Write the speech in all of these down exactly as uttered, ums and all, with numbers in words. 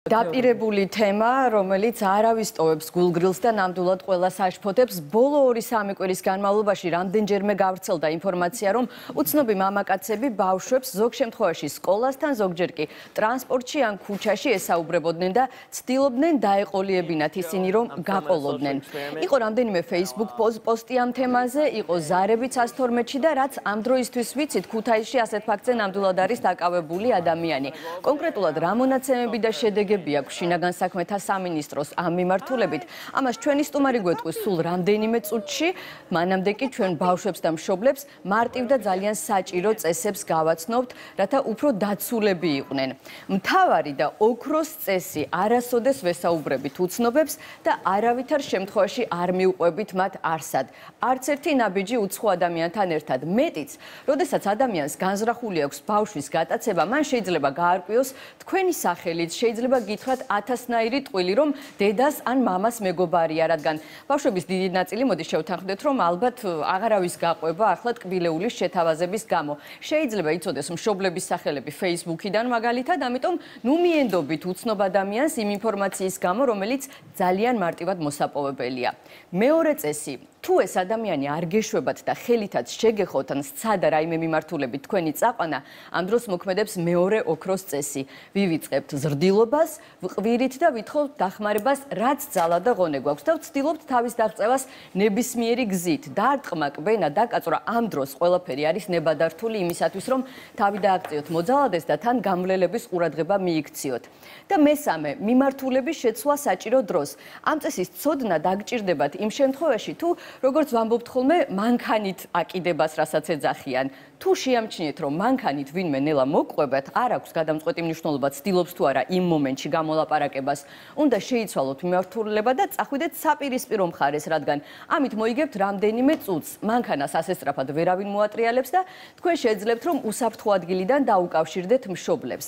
დაპირებული თემა, რომელიც არავის ტოვებს გულგრილს და ნამდვილად ყველას აშფოთებს. ბოლო ორი სამი კვირის განმავლობაში რამდენჯერმე გავრცელდა ინფორმაცია, რომ უცნობი მამაკაცები ბავშვებს ზოგ შემთხვევაში სკოლასთან, ზოგჯერ კი ტრანსპორტში ან ქუჩაში ესაუბრებოდნენ და ცდილობდნენ დაეყოლიებინათ ისინი, რომ გაყოლოდნენ. იყო რამდენიმე Facebook პოსტი ამ თემაზე, იყო ზარებიც ას თორმეტში და რაც ამ დროისთვის ვიცით, ქუთაისში ასეთ ფაქტზე ნამდვილად არის დაკავებული ადამიანი. კონკრეტულად რა მონაცემები და შედეგები აქვს შინაგან საქმეთა სამინისტროს ამ მიმართულებით. ამას ჩვენი სტუმარი გვეტყვის სულ რამდენიმე წუთში, მანამდე კი ჩვენ ბავშვებს და მშობლებს მარტივ და ძალიან საჭირო წესებს გავაცნობთ, რათა უფრო დაცულები იყვნენ. მთავარი და ოქროს წესი არასოდეს ვესაუბრებით უცნობებს და არავითარ შემთხვევაში არ მიუყვებით მათ არსად. არც ერთი ნაბიჯი უცხო ადამიანთან ერთად. მეტიც, როდესაც ადამიანს განზრახული აქვს ბავშვის გატაცება, მან შეიძლება გაარკვიოს თქვენი სახელით, შეიძლება გითხრათ ათასნაირი ტყვილი, რომ დედას ან მამას მეგობარია, რადგან ბავშვების დიდი ნაწილი მოდი შევთანხმდეთ, რომ ალბათ აღარავის გაყვება ახლა ტკბილეულის შეთავაზების გამო. შეიძლება იცოდეს მშობლების სახელები Facebook-იდან მაგალითად, ამიტომ ნუ მიენდობით უცნობ ადამიანს იმ ინფორმაციის გამო, რომელიც ძალიან მარტივად მოსაპოვებელია. მეორე წესი, თუ ეს ადამიანი არ გეშვებათ და ხელითაც შეგეხოთ ან სცადა რაიმე მიმართულებით თქვენი წაყვანა, ამ დროს მოქმედებს მეორე ოქროს წესი. ვივიწყებთ ზრდილობას, ვყვირით და ვითხოვთ დახმარებას, რაც ძალა და ღონე გვაქვს და ვცდილობთ თავის დაღწევას ნებისმიერი გზით. დარტყმა, კბენა, დაკაწვრა ამ დროს ყველაფერი არის ნებადართული იმისათვის, რომ თავი დააღწიოთ მოძალადეს და თან გამვლელების ყურადღება მიიქციოთ. და მესამე, მიმართულების შეცვლა საჭირო დროს. ამ წესის ცოდნა დაგჭირდებათ იმ შემთხვევაში, თუ როგორც ვამბობთ ხოლმე, მანქანით აკიდებას, რასაც ეძახიან. თუ შეამჩნიეთ, რომ მანქანით ვინმე ნელა მოგყვებათ, არ აქვს გადამწყვეტი მნიშვნელობა, ცდილობს თუ არა იმ მომენტში გამოლაპარაკებას, უნდა შეიცვალოთ მიმართულება და წახვიდეთ საპირისპირო მხარეს, რადგან ამით მოიგებთ რამდენიმე წუთს. მანქანას ასესწრაფად ვერავინ მოატრიალებს და თქვენ შეძლებთ, რომ უსაფრთხო ადგილიდან დაუკავშირდეთ მშობლებს.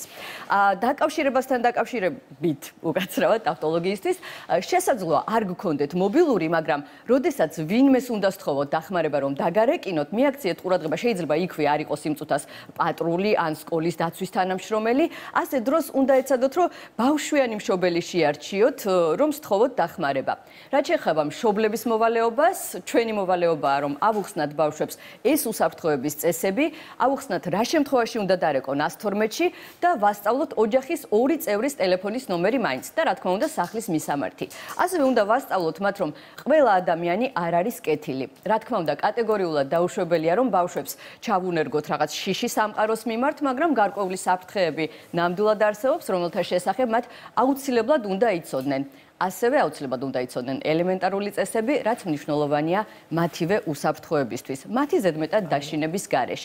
დაკავშირებასთან დაკავშირებით, უკაცრავად ტავტოლოგიისთვის, შესაძლოა არ გქონდეთ მობილური, მაგრამ როდესაც ვინმეს უნდა სთხოვოთ დახმარება, რომ დაგარეკინოთ, მიაქციეთ ყურადღება, შეიძლება იქვე არ იყოს იმ წუთას პატრული ან სკოლის დაცვის თანამშრომელი, ასე დროს უნდა ეცადოთ, რომ ბავშვიანი მშობელი შეარჩიოთ, რომ სთხოვოთ დახმარება. რაც შეეხება მშობლების მოვალეობას, ჩვენი მოვალეობაა, რომ ავუხსნათ ბავშვებს ეს უსაფრთხოების წესები, ავუხსნათ რა შემთხვევაში უნდა დარეკონ ას თორმეტში და ვასწავლოთ ოჯახის ორი წევრის ტელეფონის ნომერი მაინც და რა თქმა უნდა სახლის მისამართი. ასევე უნდა ვასწავლოთ მათ, რომ ყველა ადამიანი არ არის კეთილი. რა თქმა უნდა, კატეგორიულად დაუშვებელია, რომ ბავშვებს ჩავუნერგოთ რაღაც შიში სამყაროს მიმართ, მაგრამ გარკვეული საფრთხეები ნამდვილად არსებობს, რომელთა შესახებ მათ აუცილებლად უნდა იცოდნენ. ასევე აუცილებლად უნდა იცოდნენ ელემენტარული წესები, რაც მნიშვნელოვანია მათივე უსაფრთხოებისთვის, მათი ზედმეტად დაშინების გარეშე.